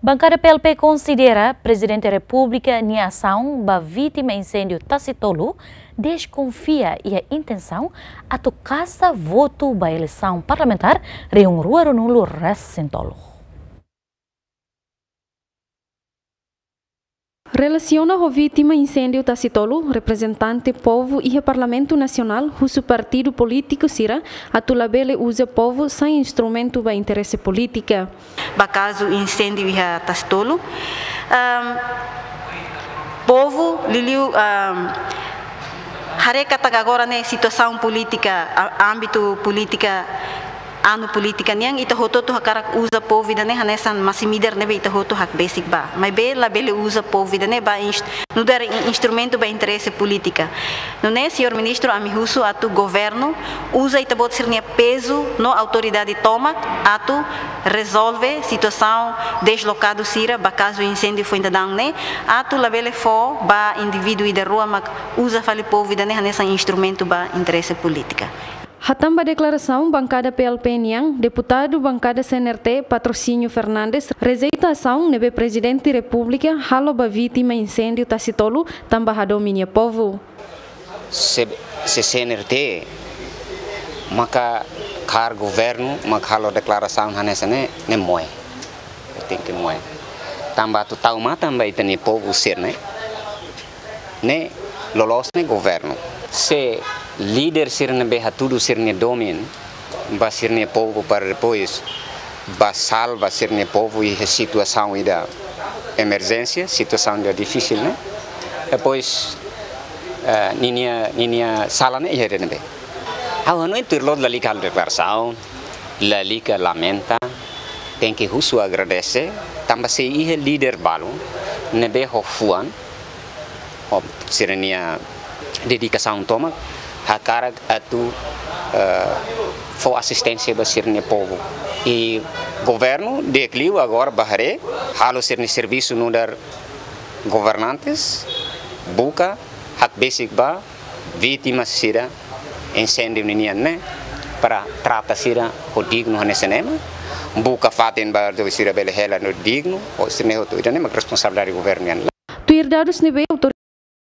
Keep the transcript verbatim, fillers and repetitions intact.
Bankada P L P konsidera Prezidente Repúblika nia asaun ba vítima inséndiu Tasitolu deskonfia iha intensaun atu kasa votu ba eleisaun parlamentár rihun rua ruanulu resin tolu. Relasiona ho vítima inséndiu Tasitolu, reprezentante povu iha Parlamentu Nasionál husu partidu polítiku sira atu labele uza povu sai instrumentu ba interese polítika. Ba kazu inséndiu iha Tasitolu, ehm, povu liuliu, ehm, haree katak agora ne'e situasaun polítika, a-, ámbitu polítika, anu polítika nian, ita hotu-hotu hakarak uza povu ida-ne'e hanesan masin-midar ne'ebé ita hotu hakbesik ba. Maibé labele uza povu ida-ne'e ba inst-, nu'udar in-, instrumentu ba interese polítika. Nune'e, señór ministru, ami husu atu governu uza ita-boot sira-nia pezu no autoridade tomak atu rezolve situasaun deslokadu sira ba kazu inséndiu foin daudaun ne'e, atu labele fó ba indivíduu ida rua mak uza fali povu ida-ne'e hanesan instrumentu ba interese polítika. Hatán ba deklarasaun bankada P L P nian, deputadu bankada C N R T Patrocínio Fernandes rejeita asaun ne'ebé Prezidente Repúblika halo ba vítima inséndiu Tasitolu tanba hadomi nia povu. Se, se C N R T maka kaer governu, maka halo deklarasaun hanesan ne'e, ne'e moe. Tenke moe. Tanba atu tau matan ba ita-nia povu sira-ne'e, ne'e loloos ne'e governu. Se líder sira ne'ebé hatudu sira-nia domin ba sira-nia povu para depois ba salva sira-nia povu iha situasaun ida emerjénsia, situasaun ida difisil ne'e. Depois, eh, ninia, ninia sala ne'e iha ida-ne'ebé? Ha'u hanoin tuir loloos lalika halo deklarasaun, lalika lamenta, tenke husu agradese, tanba sei iha líder balu ne'ebé ho fuan, ho sira-nia dedikasaun tomak, hakarak atu, eh, fó asisténsia ba sira-nia povu. I governu di'ak liu agora bá haree, halo sira-nia servisu nu'udar governantes, buka hakbesik ba vítima sira inséndiu ninian ne'e, para trata sira ho dignu hanesan ema, buka fatin ba atu sira bele hela no dignu, ho sira-ne'e hotu. Ida-ne'e mak responsabilidade governu nian. Tuir dadus ne'ebé